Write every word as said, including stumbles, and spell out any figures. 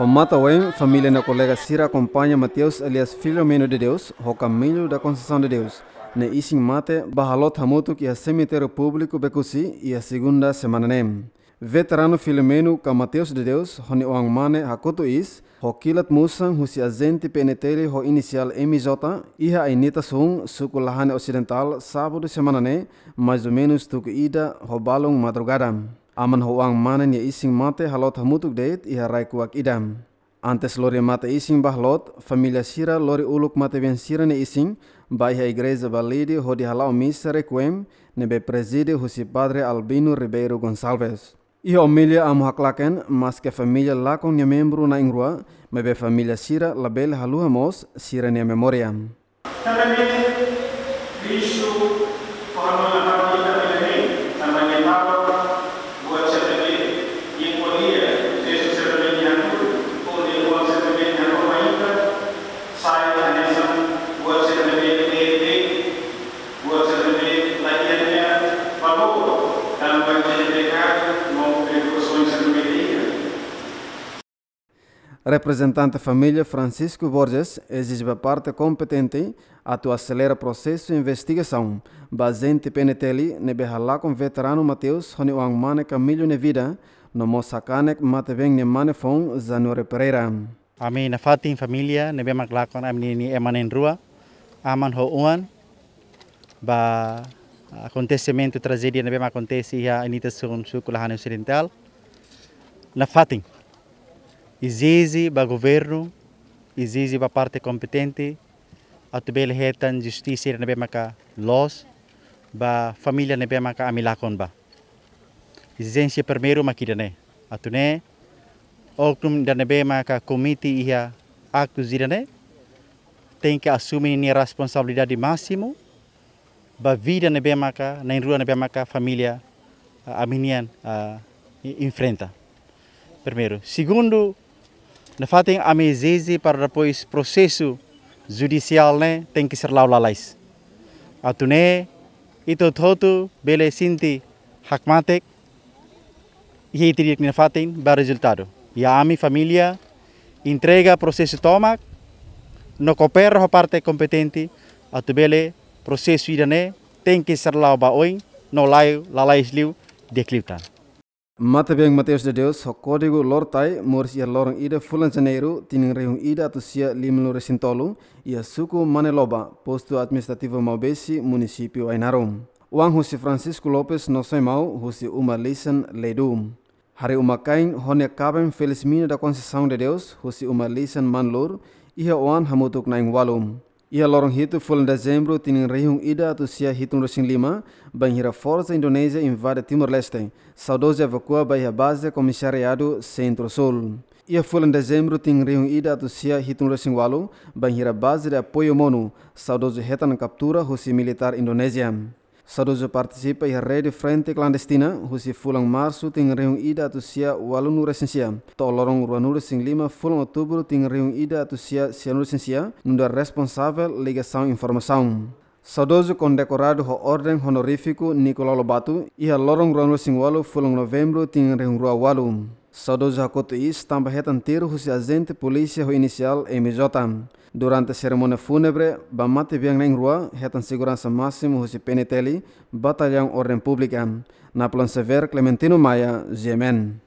Ho matan-ween, família no kolega sira akompaña Mateus Elias Filomeno de Deus ho Camilo da Conceição de Deus nia isin-mate ba haloot hamutuk iha semitériu públiku Becusse iha segunda semana ne'e. Veteranu Filomeno ka Mateus de Deus ho nia oan-mane hakotu iis ho kilat musan husi ajente P N T L ho inisiál M J iha Anitta Sun, suku Lahane Osidentál, sábadu semana ne'e, mais ou menus tuku ida ho balun madrugada. Aman ho oan-mane nia isin-mate haloot hamutuk de'it iha rai kuak ida. Antes lori mate-isin ba haloot, família sira lori uluk matebian sira-nia isin ba iha igreja Balide hodi hala'o misa requiem ne'ebé prezide husi Padre Albino Ribeiro Gonçalves. Iha omilia Amu haklaken, maske família lakon nia membru na'in-rua, maibé família sira labele haluha mós sira-nia memória. Tanba ne'e, Kristu, kuandu nafatin ita bele hein, tanba ne'e Papa, buat sira ne'ebé, nia ko'alia, Jesus sira ne'ebé nia hatudu, ou nia oan sira ne'ebé nia hatudu mai ita, sai hanesan buat sira ne'ebé, ne'ebé, buat sira ne'ebé, la iha nia valór, tanba ita-nia pekadu, no preokupasaun sira ne'ebé iha. Reprezentante família Francisco Borges ezije ba parte kompetente atu aselera prosesu investigasaun ba ajente P N T L ne'ebé halakon veteranu Mateus ho nia oan-mane Camilo nia vida, no mós hakanek matebian nia mane foun Januário Pereira. Ami nafatin família ne'ebé mak lakon ami-nia ema na'in-rua, aman ho oan, ba akontesimentu trajédia ne'ebé mak akontese iha Anitta Sun, suku Lahane Osidentál. Nafatin ezije ba governu, ezije ba parte kompetente atu bele hetan justisa ida ne'ebé maka loos ba família ne'ebé maka ami lakon ba. Ezijénsia primeiru mak ida-ne'e. Atu nune'e, oknum ida ne'ebé maka komete iha aktus ida-ne'e tenke asume nia responsabilidade másimu ba vida ne'ebé maka, na'in-rua ne'ebé maka família, ah, ami-nian, ah, e-, enfrenta. Primeiru. Segundu, nafatin ami ezije para depois prosesu judisiál ne'e tenke ser la'o lalais. Atu nune'e, ita hotu-hotu bele sente hakmatek, iha ita-nia fatin ba rezultadu. I ami família entrega prosesu tomak, no koopera ho parte kompetente, atu bele prosesu ida-ne'e tenke ser la'o ba oin, no la'o lalais liu di'ak liután. Matebian Mateus de Deus ho kódigu Lortai moris iha loron ida fulan Janeiru, tinan rihun ida atus sia limanulu-resin-tolu, iha suku Maneloba, postu administrativu Maubesse, munisípiu Ainaro. Oan husi Francisco Lopes no Soimau husi uma lisan Leidu. Harii uma-kain ho nia kaben Felizmina da Conceição de Deus husi uma lisan Manlur, iha oan hamutuk na'in-ualu. Iha loron hitu fulan Dezembru tinan rihun ida atus sia hitunulu-resin-lima, bainhira forsa Indonézia invade Timor-Leste, saudozu evakua ba iha baze komisariadu Sentru-Súl. Iha fulan Dezembru tinan rihun ida atus sia hitunulu-resin-ualu, bainhira baze de apoiu Monu, saudozu hetan kaptura husi militár Indonézia. Saudozu partisipa iha rede frente klandestina husi fulan Marsu tinan rihun ida atus sia ualunulu-resin-sia to'o loron ruanulu-resin-lima fulan Outubru tinan rihun ida atus sia sianulu-resin-sia, nu'udar responsavel ligasaun informasaun. Saudozu kondekoradu ho orden onorífiku Nicolau Lobato iha loron ruanulu-resin-ualu fulan Novembru tinan rihun rua ualu. Saudozu hakotu iis tanba hetan tiru husi ajente polísia ho inisiál M J. Durante serimónia fúnebre ba matebian na'in-rua, hetan seguransa másimu husi P N T L, Batallaun Orden Públika. Napoleon Xavier, Clementino Maia, G M N.